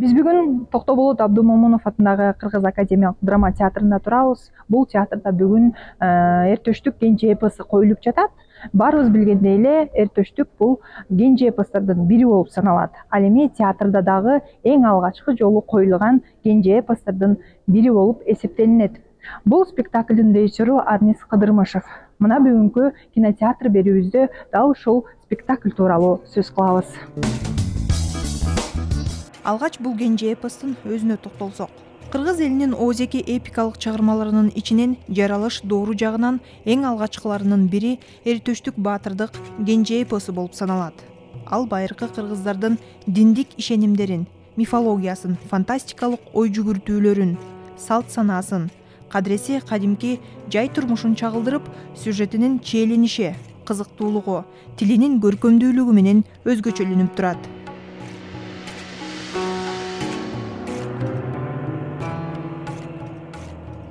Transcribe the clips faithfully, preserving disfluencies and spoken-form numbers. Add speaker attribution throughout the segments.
Speaker 1: Биз бүгүн Токтоболот Абдумомунов атындагы Кыргыз академиялык драма театрында турабыз. Бул театрда бүгүн Эртөштүк кенже эпосу коюлуп жатат. Баарыбыз билгендей эле Эртөштүк бул кенже эпостордун бири болуп саналат. Ал эми театрда дагы эң алгачкы жолу коюлган кенже эпостордун бири болуп эсептелинет. Бул спектаклдын режиссеру Арнис Кыдырмышев. Мына бүгүнкү кинотеатр берүүбүздө дал ушул спектакль тууралуу сөз кылабыз.
Speaker 2: Алгач бул кенже эпостун өзүнө токтолсок. Кыргыз элинин оозеки эпикалык чыгармаларынын ичинен жаралыш доору жагынан эң алгачкыларынын бири Эртөштүк баатырдык кенже эпосу болуп саналат. Ал байыркы кыргыздардын диндик ишенимдерин, мифологиясын, фантастикалык ой жүгүртүүлөрүн, салт санаасын, кадиреси кадимки жай турмушун чагылдырып, сюжетинин чиелениши, кызыктуулугу, тилинин көркөмдүүлүгү менен өзгөчөлөнүп турат.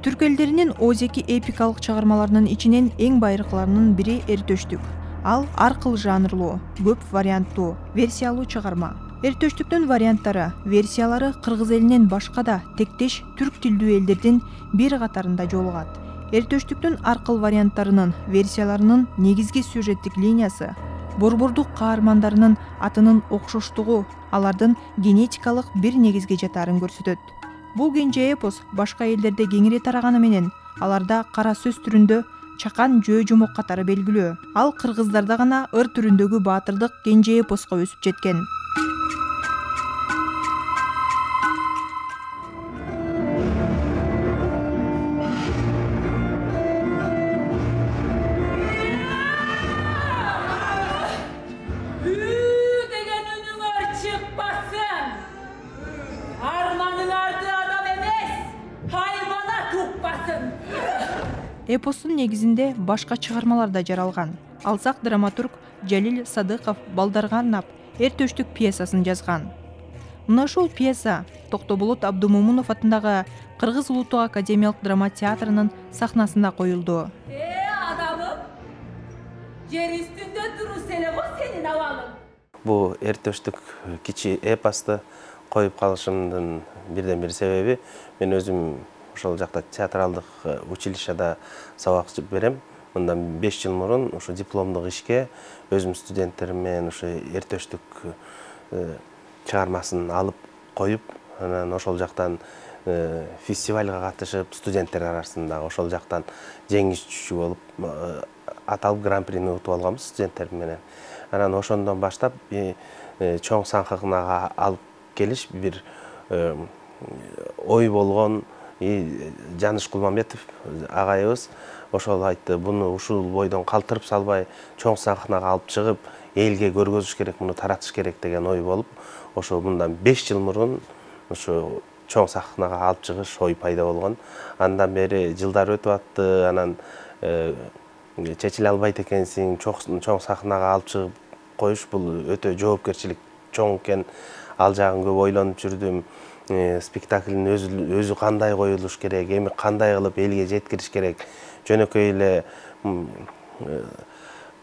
Speaker 2: Түрк элдеринин оозеки эпикалык чыгармаларынын ичинен эң байыркыларынын бири Эртөштүк. Ал ар кыл жанрлуу, көп варианттуу, версиялуу чыгарма. Эртөштүктүн варианттары, версиялары кыргыз элинен башка да тектеш түрк тилдүү элдердин бир катарында жолугат. Эртөштүктүн ар кыл варианттарынын, версияларынын негизги сюжеттик линиясы борбордук каармандарынын атынын окшоштугу, алардын генетикалык бир негизге жатаарын көрсөтөт. Бул кенже эпос башка элдерде кеңири тараганы менен аларда кара сөз түрүндө чакан жөө жумок катары белгилүү. Ал кыргыздарда гана ыр түрүндөгү баатырдык кенже эпоско өсүп жеткен. Эпостун негизинде башка чыгармалар да жаралган. Алсак драматург Жалил Садыков Балдарганап Эртөштүк пьесасын жазган. Мына ушул пьеса Токтоболот Абдумомунов атындагы Кыргыз Улуттук академиялык драма театрынын сахнасында коюлду.
Speaker 3: Э, адамым, жер үстүндө турус эле го сенин абалың.
Speaker 4: Бул Эртөштүк кичи эпосты коюп калышымдын бирден бир себеби мен өзүм ошол жакта театралдык училищеда сабак берем. Мындан беш жыл мурун ушу дипломдук ишке өзүм студенттерим менен ушу Эртөштүк чыгармасын алып коюп, анан ошол жактан фестивалга катышып, студенттер арасында ошол жактан жеңүүчү болуп аталып гран-прини утуп алганбыз студенттерим менен. Анан ошондон баштап чоң сахнага алып келиш бир ой болгон. Жаныш Кулмамбетов агайыбыз ошол айтты, буну ушул бойдон калтырып салбай, чоң сахнага алып чыгып, элге көргөзүш керек, муну таратыш керек деген ой болуп, ошо мындан беш жыл мурун ушу чоң сахнага алып чыгыш ой пайда болгон. Андан бери жылдар өтүп атты, анан чечиле албайт экенсиң, чоң сахнага алып чыгып коюш бул өтө жоопкерчилик чоң экен. Ал жагын көп ойлонуп жүрдүм. Спектаклдин өзү кандай коюлуш керек, эми кандай кылып элге жеткириш керек. Жөнөкөй эле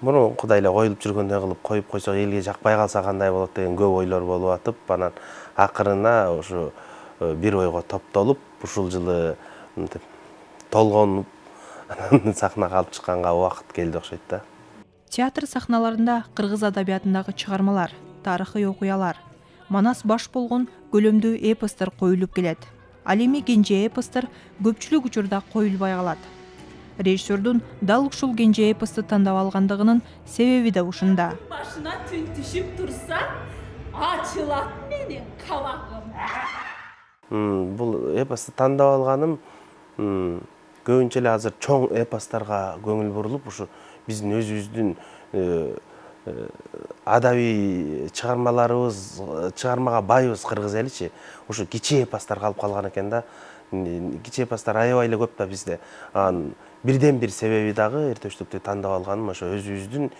Speaker 4: мурункудай эле коюлуп жүргөндөй кылып коюп койсок, элге жакпай калса кандай болот деген көп ойлор болуп атып, анан акырына ушу бир ойго топтолуп, ушул жылы толгонуп, анан сахнага алып чыкканга убакыт келди окшойт да.
Speaker 2: Театр сахналарында кыргыз адабиятындагы чыгармалар, тарыхый окуялар, манас баш болгон көлөмдүү эпостор коюлуп келет. Ал эми кенже эпостор көпчүлүк учурда коюлбай калат. Режиссердун дал ушул кенже эпосту тандап алгандыгынын себеби да ушунда.
Speaker 3: Башына түн түшүп турса, ачылат менин кабагым.
Speaker 4: Бул эпосту тандап алганым көбүнчө эле азыр чоң эпостторго көңүл бурулуп, ушу биздин өзүбүздүн адабий чыгармаларыбыз, чыгармага байыбыз кыргыз эличи, ушу кичи эпостор калып калган экен да. Кичи эпостор аябай эле көп да бизде. Анан бирден бир себеби дагы Эртөштүктү тандап алганым ошо өзүбүздүн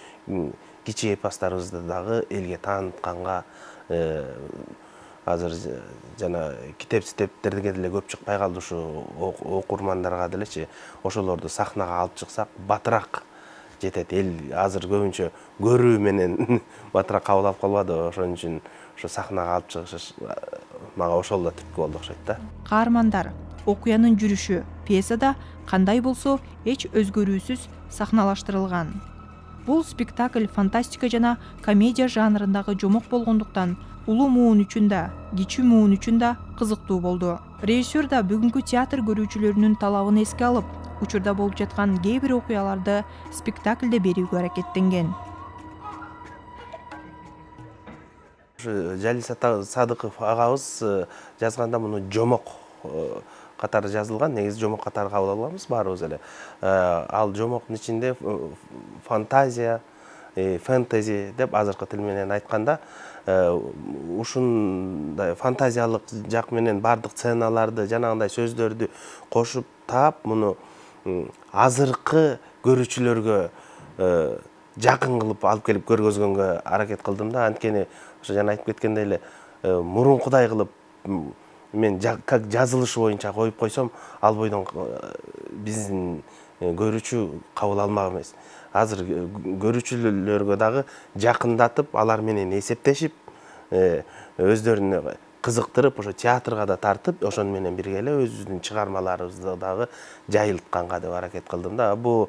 Speaker 4: кичи эпосторубузду дагы элге таанытканга, азыр жана китеп-ситептерге деле көп чыкпай калды, ушу окурмандарга делечи, ошолорду сахнага алып чыксак, батыраак жетет. Эл азыр көбүнчө көрүү менен батыраак кабыл алып калбады. Ошон үчүн ошо сахнага алып чыгыш мага ошол да түрткү болду окшойт да.
Speaker 2: Каармандар, окуянын жүрүшү пьесада кандай болсо эч өзгөрүүсүз сахналаштырылган. Бул спектакль фантастика жана комедия жанрындагы жомок болгондуктан улуу муун үчүн да, кичүү муун үчүн да кызыктуу болду. Режиссер да бүгүнкү театр көрүүчүлөрүнүн талабын эске алып, учурда болуп жаткан кээ бир окуяларды спектакльде берүүгө аракеттенген.
Speaker 4: Жалис Садыков агабыз жазганда муну жомок катары жазылган, негизи жомок катары кабыл алганбыз баарыбыз эле. Ал жомоктун ичинде фантазия, фэнтези деп азыркы тил менен айтканда, ушундай фантазиялык жак менен бардык сценаларды, жанагындай сөздөрдү кошуп таап, муну азыркы көрүүчүлөргө жакын кылып алып келип көргөзгөнгө аракет кылдым да. Анткени ошо жана айтып кеткендей эле, мурункудай кылып мен как жазылышы боюнча коюп койсом, ал бойдон биздин көрүүчү кабыл алмак эмес. Азыр көрүүчүлөргө дагы жакындатып, алар менен эсептешип, өздөрүнө кызыктырып, ошо театрга да тартып, ошону менен бирге эле өзүбүздүн чыгармаларыбызды дагы жайылтканга деп аракет кылдым да. Бул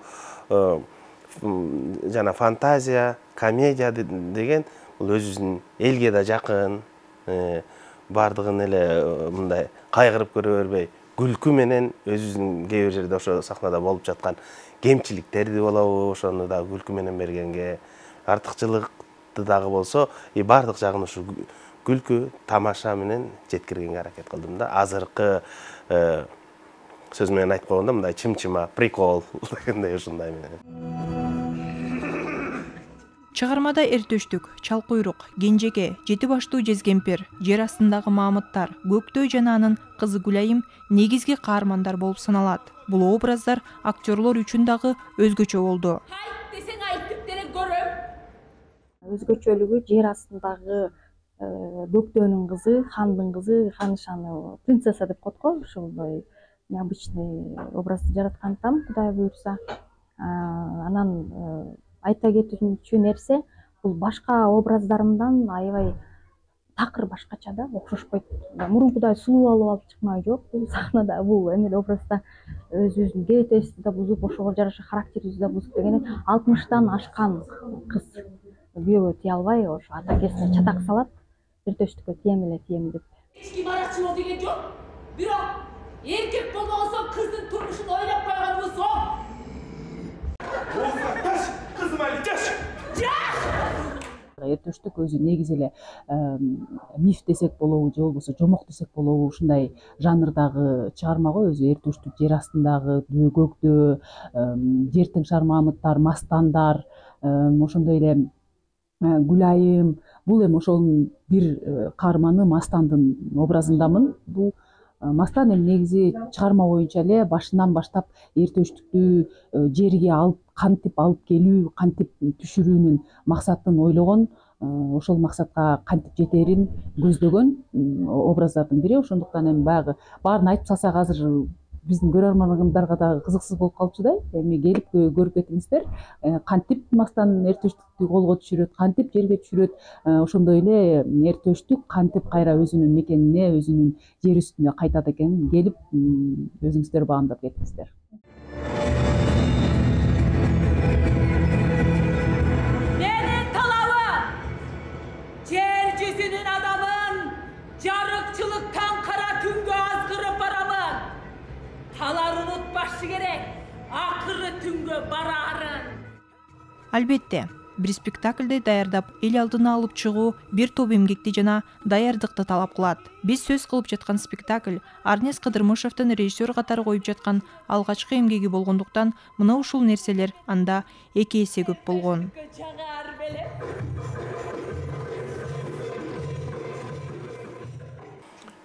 Speaker 4: жана фантазия, комедия деген бул өзүбүздүн элге да жакын, бардыгын эле мындай кайгырып көрө бербей, күлкү менен өзүбүздүн кээ бир жерде ошо сахнада болуп жаткан кемчиликтерди болобу, ошону да күлкү менен бергенге, артыкчылыкты дагы болсо, и бардык жагын ушу күлкү, тамаша менен жеткиргенге аракет кылдым да. Азыркы сөз менен айтып койгондо, мындай чым-чыма, прикол дегендей ушундай менен.
Speaker 2: Чыгармада эртөштүк, чалкуйрук, кенжеке, жети баштуу жезкемпир, жер астындагы маамыттар, көктөй жана анын кызы Гүлайым негизги каармандар болуп саналат. Бул образдар актерлор үчүн дагы өзгөчө болду.
Speaker 3: Айт десең айтып деле көрөм.
Speaker 5: Өзгөчөлүгү жер астындагы көктөөнүн кызы, хандын кызы, ханышаны принцесса деп коет го, ушундай необычный образды жараткандыктан, Кудай буйрса. Анан айта кетүүчү нерсе, бул башка образдарымдан аябай такыр башкача да, окшошпойт. Мурункудай сулуу алып алып чыкмай жок, бул сахнада, бул эмеде образда өзүбүздүн керетесибизди да бузуп, ошого жараша характерибизди да бузуп дегенде, алтымыштан ашкан кыз күйөөгө тие албай, ошо ата акесине чатак салат, эртөштүккө тием эле тием деп.
Speaker 3: Эч ким аракчы бол деген жок. Бирок эркек болгон соң кыздын турмушун ойлоп койгонубуз соң.
Speaker 6: Эртөштүк өзү негизи эле миф десек болобу, же болбосо жомок десек болобу, ушундай жанрдагы чыгарма го өзү. Эртөштүк жер астындагы дөө көктөө, жер тыңшар маамыттар, мастандар, ошондой эле Гүлайым. Бул эми ошонун бир каарманы Мастандын образындамын. Бул Мастан эми негизи чыгарма боюнча эле башынан баштап эртөштүктү жерге алып, кантип алып келүү, кантип түшүрүүнүн максатын ойлогон, ошол максатка кантип жетерин көздөгөн образдардын бири. Ошондуктан эми баягы баарын айтып салсак азыр биздин көрөрмандарга дагы кызыксыз болуп калчудай. Эми келип көрүп кетиңиздер, кантип Мастан эртөштүктү колго түшүрөт, кантип жерге түшүрөт, ошондой эле эртөштүк кантип кайра өзүнүн мекенине, өзүнүн жер үстүнө кайтат экенин келип өзүңүздөр баамдап кетиңиздер.
Speaker 3: Менин талабым жер жүзүнүн адамын жарыкчылыктан кара түнгө азгырып барамын. Алар унутпашы керек, акыры түнгө бараарын.
Speaker 2: Албетте, бир спектакльди даярдап эл алдына алып чыгуу бир топ эмгекти жана даярдыкты талап кылат. Биз сөз кылып жаткан спектакль Арнес Кыдырмышевдин режиссер катары коюп жаткан алгачкы эмгеги болгондуктан мына ушул нерселер анда эки эсе көп болгон.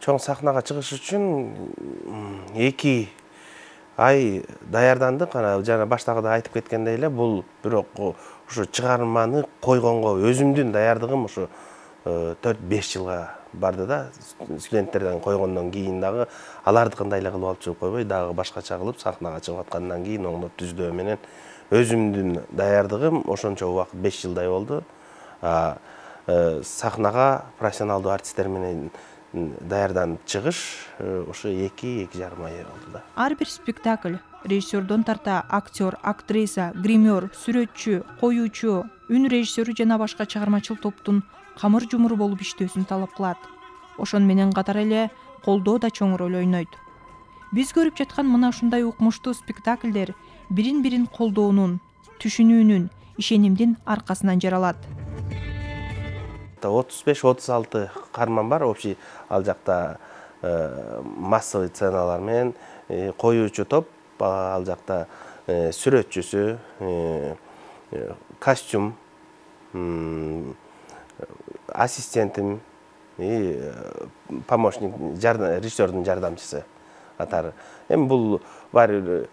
Speaker 4: Чоң сахнага чыгыш үчүн эки ай даярдандык. Ана жана баштагыда айтып кеткендей эле, бул бирок ушу чыгарманы койгонго өзүмдүн даярдыгым ушу төрт беш жылга барды да. Студенттерден койгондон кийин дагы алардыкындай эле кылып алып чыгып койбой, дагы башкача кылып сахнага чыгып аткандан кийин оңдоп түздөө менен өзүмдүн даярдыгым ошончо убакыт беш жылдай болду. Сахнага профессионалдуу артисттер менен даярданып чыгыш ошо эки эки жарым ай болду да.
Speaker 2: Ар бир спектакль режиссердон тарта актер, актриса, гример, сүрөтчү, коюучу, үн режиссеру жана башка чыгармачыл топтун камыр жумуру болуп иштөөсүн талап кылат. Ошон менен катар эле колдоо да чоң роль ойнойт. Биз көрүп жаткан мына ушундай укмуштуу спектакльдер бирин-бирин колдоонун, түшүнүүнүн, ишенимдин аркасынан жаралат.
Speaker 4: отуз беш отуз алты каарман бар, общий ал жакта массовый сценалар менен коюучу топ, ал жакта сүрөтчүсү, костюм, ассистентим, помощник, режиссердун жардамчысы катары. Эми бул баары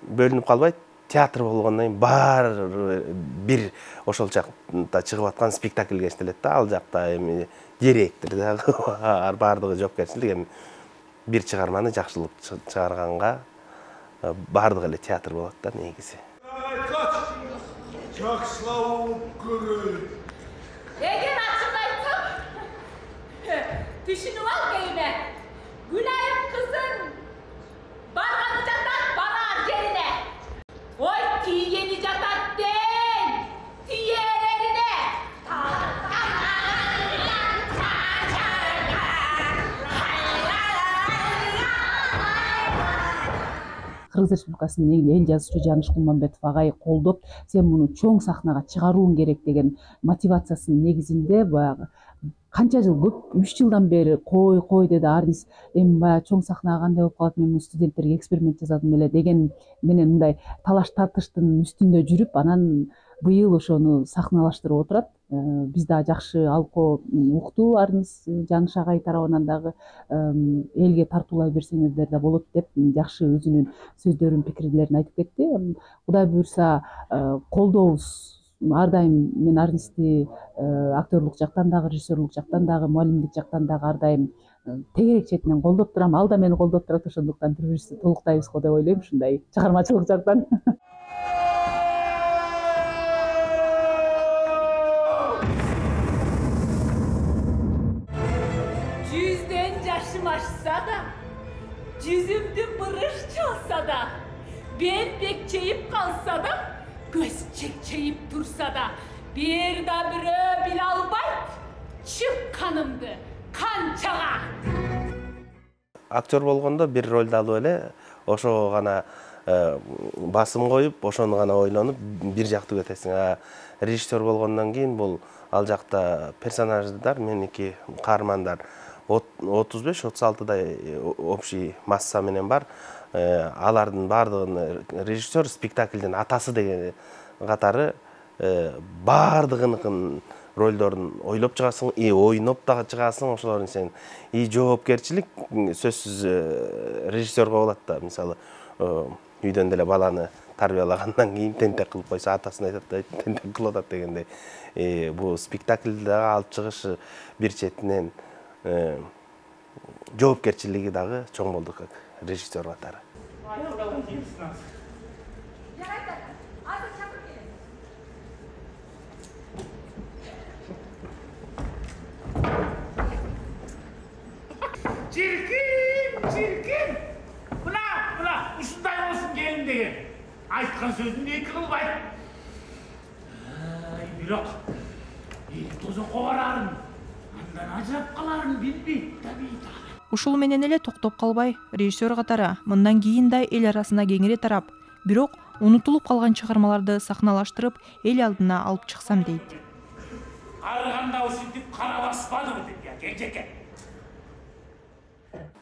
Speaker 4: бөлүнүп калбайт. Театр болгондон кийин баары бир ошол жакта чыгып аткан спектакльге иштелет да. Ал жакта эми директор дагы баардыгы жоопкерчилик. Эми бир чыгарманы жакшылап чыгарганга баардыгы эле театр болот да негизи.
Speaker 7: Жакшылап көрөйүн.
Speaker 3: Эгер ачык айтсам, түшүнүп ал кейине. Гүлайым кызың барганы жатат барар жерине. Ой, тиени жатат ден, тиенерине.
Speaker 6: Кыргыз Республикасынын эл жазуучу Жаныш Кулманбетов агай колдоп, сен муну чоң сахнага чыгарууң керек деген мотивациясынын негизинде баягы канча жыл, көп үч жылдан бери кой кой деди Арнис. Эми баягы чоң сахнага кандай болуп калат, мен муну студенттерге эксперимент жасадым эле деген менен мындай талаш тартыштын үстүндө жүрүп, анан быйыл ошону сахналаштырып отурат. Биз дагы жакшы алкоо укту, Арнис Жаныш агай тарабынан дагы элге тартуулай берсеңиздер да болот деп жакшы өзүнүн сөздөрүн, пикирлерин айтып кетти. Кудай буюрса колдообуз ар дайым мен Арнисти актерлук жактан дагы, режиссерлук жактан дагы, муалимдик жактан дагы ар дайым тегерек четинен колдоп турам. Ал да мени колдоп турат, ошондуктан бири-бирибизди толуктайбыз го деп ойлойм, ушундай чыгармачылык жактан.
Speaker 3: Жүзден жашым ашса да, жүзүмдү бырыш чалса да, бет бекчейип калса да, көз чекчейип турса да, бир да бирөө биле албайт чыкканымды канчага.
Speaker 4: Актер болгондо бир ролду алып эле ошого гана басым коюп, ошону гана ойлонуп бир жактуу кетесиң. Режиссер болгондон кийин бул ал жакта персонаждар, меники каармандар отуз беш отуз алтыдай общий масса менен бар. Алардын баардыгын режиссер спектаклдин атасы деген катары баардыгынын ролдорун ойлоп чыгасың, и ойноп дагы чыгасың. Ошолордун сен и жоопкерчилик сөзсүз режиссерге болот да. Мисалы, үйдөн деле баланы тарбиялагандан кийин тентек кылып койсо, атасына айтат да, тентек кылып атат дегендей. Бул спектакльди дагы алып чыгыш бир четинен жоопкерчилиги дагы чоң болду режиссер катары.
Speaker 7: Çirkin, çirkin. Buna, buna, uşunday olsun gelin деген. Айтқан сөзін екі қылбайт. Бирок, тозоққа барарын, андан ажырап қаларын билбейт табита.
Speaker 2: Ушул менен эле токтоп калбай, режиссер катары мындан кийин да эл арасына кеңири тарап, бирок унутулуп калган чыгармаларды сахналаштырып, эл алдына алып чыксам дейт.
Speaker 7: Арыганда ушинтип кара баспадым деп, кенжеке.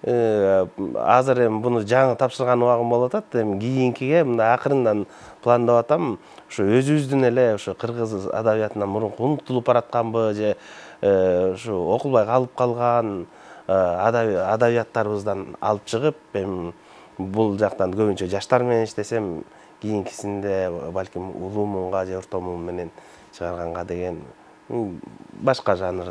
Speaker 4: Азыр эми буну жаңы тапшырган убагым болуп атат. Эми кийинкиге мындай акырындан пландап атам. Ошо өзүбүздүн эле ошо кыргыз адабиятынан мурунку унутулуп баратканбы же ошо окулбай калып калган адабияттарыбыздан алып чыгып, эми бул жактан көбүнчө жаштар менен иштесем, кийинкисинде балким улуу муунга же орто муун менен чыгарганга деген башка жанр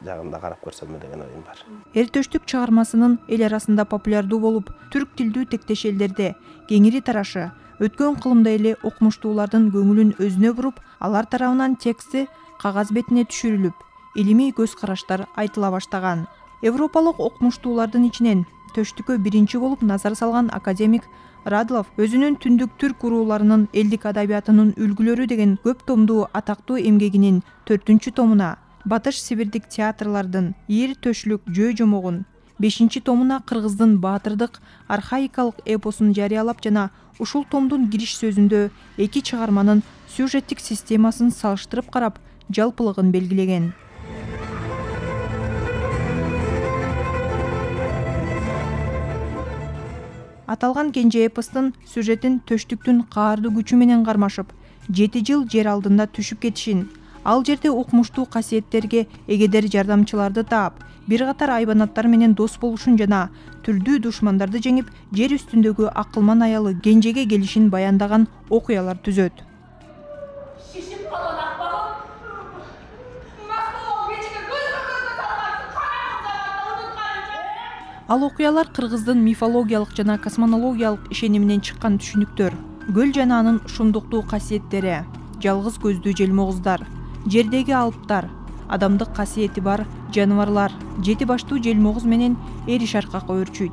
Speaker 4: жагында карап көрсөм деген оюм бар.
Speaker 2: Эртөштүк чыгармасынын эл арасында популярдуу болуп, түрк тилдүү тектеш элдерде кеңири тарашы өткөн кылымда эле окумуштуулардын көңүлүн өзүнө буруп, алар тарабынан тексти кагаз бетине түшүрүлүп, илимий көз караштар айтыла баштаган. Европалык окумуштуулардын ичинен төштүккө биринчи болуп назар салган академик Радлов өзүнүн Түндүк түрк урууларынын элдик адабиятынын үлгүлөрү деген көп томдуу атактуу эмгегинин төртүнчү томуна Батыш Сибирдик театрлардын ир төшлүк жөө жомогун, бешинчи томуна кыргыздын баатырдык архаикалык эпосун жарыялап жана ушул томдун кириш сөзүндө эки чыгарманын сюжеттик системасын салыштырып карап, жалпылыгын белгилеген. Аталган кенже эпостун сюжетин төштүктүн каардуу күчү менен кармашып, жети жыл жер алдында түшүп кетишин, ал жерде укмуштуу касиеттерге эгедер жардамчыларды таап, бир катар айбанаттар менен дос болушун жана түрдүү душмандарды жеңип, жер үстүндөгү акылман аялы Кенжеге келишин баяндаган окуялар түзөт.
Speaker 3: Шишип калган акбагым. Мактоо кечиге көз көзгө салгансың, караңгы унутканыңчы.
Speaker 2: Ал окуялар кыргыздын мифологиялык жана космонологиялык ишениминен чыккан түшүнүктөр. Көл жана анын шумдуктуу касиеттери, жалгыз көздүү желмогуздар, жердеги алыптар, адамдык касиети бар жаныбарлар, жети баштуу желмогуз менен эри шаркак өөрчүйт.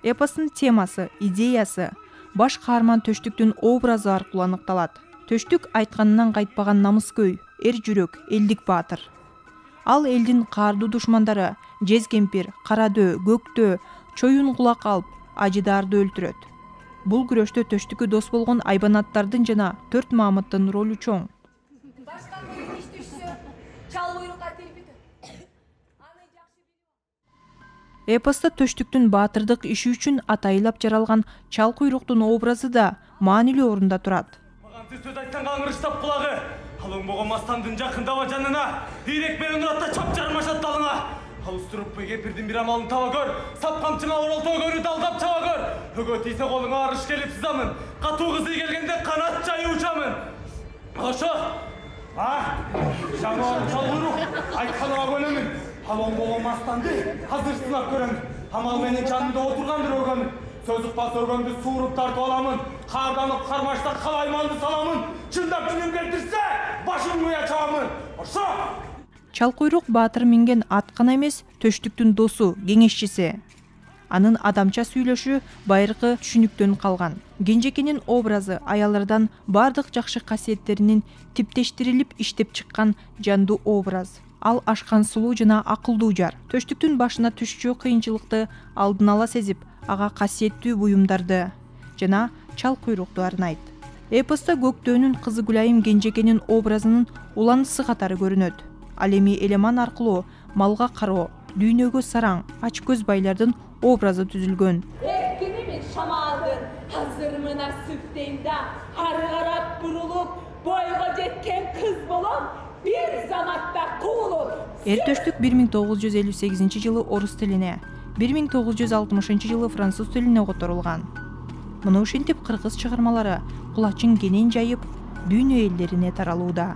Speaker 2: Эпостун темасы, идеясы баш каарман Төштүктүн образы аркылуу аныкталат. Төштүк айтканынан кайтпаган намыскөй, эр жүрөк, элдик баатыр. Ал элдин каардуу душмандары Жез кемпир, Карадөө, Көктөө, Чоюн кулак алып, Ажыдарды өлтүрөт. Бул күрөштө Төштүккө дос болгон айбанаттардын жана төрт Маамыттын ролу чоң.
Speaker 3: Башка бир иш түшсө, чал буйрукка телпитет. Аны жакшы билип.
Speaker 2: Эпоста Төштүктүн баатырдык иши үчүн атайылап жаралган чал куйруктун образы да маанилүү орунда турат.
Speaker 8: Маған сөз айтсаң аңырыштап кулагы. Алың болгон мастандын жакындаба жанына, ийрек менен уратта чап жармашат далыңа. Ал устуруп кемпирдин бир амалын таба көр, сап камчыңа оролто көрү далдап чаба көр. Өгө тийсе колуңа арыш келип сызамын, катуу кызый келгенде канат жайып учамын. Ошо. А, жануар чал куйрук, айтканыма көнөмүн. Алың болгон мастанды азыр сынап көрөмүн. Амал менен жанымда отургандыр өгөнү. Сөз укпас өргөндү сууруп тартып аламын. Карданып кармашта калайманды саламын. Чындап күнүм келтирсе, башын куя чабамын. Ошо.
Speaker 2: Чал куйрук баатыр минген ат гана эмес, Төштүктүн досу, кеңешчиси. Анын адамча сүйлөшү байыркы түшүнүктөн калган. Кенжекенин образы аялlardan бардык жакшы касиеттеринин типтештирилип иштеп чыккан жандуу образ. Ал ашкан сулуу жана акылдуу жар. Төштүктүн башына түшчү кыйынчылыкты алдын ала сезип, ага касиеттүү буюмдарды жана чал куйрукту арнайт. Эпоста Көктөөнүн кызы Гүлайым Кенжекенин образынын уланышы катары көрүнөт. Ал эми элеман аркылуу малга кароо, дүйнөгө сараң, ач көз байлардын образы түзүлгөн.
Speaker 3: Эркинимин шамалдын, азырмына сүптеймда, ары карап бурулуп, бойго жеткен кыз болом, бир заматта куулуп.
Speaker 2: Эр төштүк бир миң тогуз жүз элүү сегизинчи жылы орус тилине, бир миң тогуз жүз алтымышынчы жылы француз тилине которулган. Муну ушинтип кыргыз чыгармалары кулачын кенен жайып, дүйнө элдерине таралууда.